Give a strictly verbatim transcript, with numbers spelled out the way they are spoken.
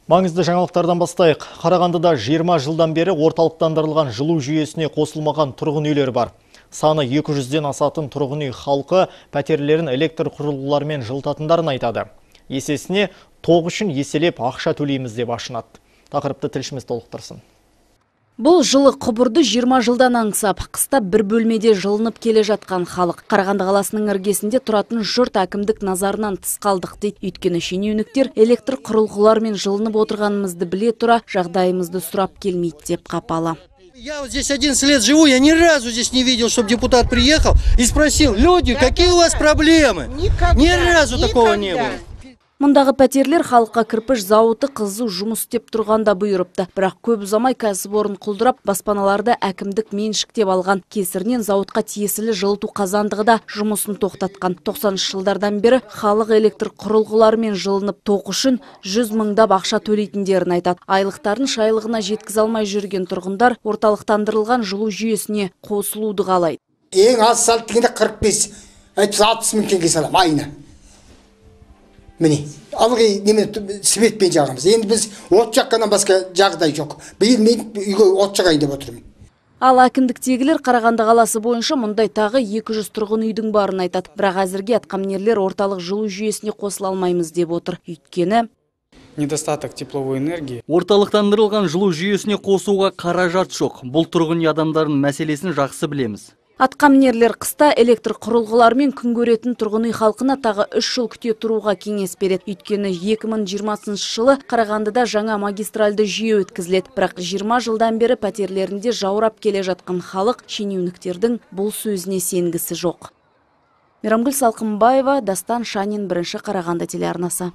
Маңызды жаңалықтардан бастайық. Қарағандыда жиырма жылдан бері орталықтандырылған жылу жүйесіне қосылмаған тұрғын үйлер бар. Саны екі жүзден асатын тұрғын үй халқы пәтерлерін электр құрылғыларымен жылытатындарын айтады. Есесіне тоқ үшін еселеп ақша төлейміз деп ашынады. Тақырыпты тілшіміз толықтырсын. Бұл жылы құбырды жиырма жылдан аңсап, қыста бір бөлмеде жылынып келе жатқан халық. Қарағанды қаласының іргесінде тұратын жұрт әкімдік назарынан тыс қалдық дейді. Өйткені шенеуніктер электр құрылғылармен жылынып отырғанымызды біле тұра, жағдайымызды сұрап келмейді деп қапалы. Я вот здесь одиннадцать лет живу, я ни разу здесь не видел, чтобы депутат приехал и спросил: люди, какие у вас проблемы? Никогда, ни разу никогда. такого не было. Мұндағы пәтерлер халыққа кірпіш зауыты қызу жұмыс істеп тұрғанда бұйырыпты. Бірақ көп ұзамай кәсіпорын құлдырап, баспаналарды әкімдік меншіктеп алған. Кесірінен зауытқа тиесілі жылыту қазандығы да жұмысын тоқтатқан. тоқсаныншы жылдардан бері халық электр құрылғыларымен жылынып тоқ үшін жүз мыңдап ақша төлейтіндерін айтады. Айлықтарын шайлығына жеткізе алмай жүрген тұрғындар орталықтандырылған жылу жүйесіне қосылуды қалайды. Ең аз салт дегенде қырық бес алпыс мың теңге салам айына. Міне, алғы немен светпен жағамыз. Енді біз от жаққаннан басқа жағдай жоқ. Биыл мен үйге от жағайын деп отырмын. Ал әкімдіктегілер Қарағанды қаласы бойынша мұндай тағы екі жүз тұрғын үйдің барын айтады. Бірақ әзірге атқамінерлер орталық жылу жүйесіне қосыла алмаймыз деп отыр. Өйткені недостаток тепловой энергии. Орталықтандырылған жылу жүйесіне қосуға қаражат жоқ. Бұл тұрғын үй адамдарының мәселесін жақсы білеміз. Атқамінерлер қыста электр құрылғыларымен күн көретін тұрғын үй халқына тағы үш жыл күте тұруға кеңес береді. Өйткені екі мың жиырмасыншы жылы Қарағандыда жаңа магистральды жүйе өткізіледі. Бірақ жиырма жылдан бері пәтерлерінде жаурап келе жатқан халық шенеуніктердің бұл сөзіне сенгісі жоқ. Мейрамгүл Салқынбаева, Дастан Шанин, бірінші Қарағанды телеарнасы.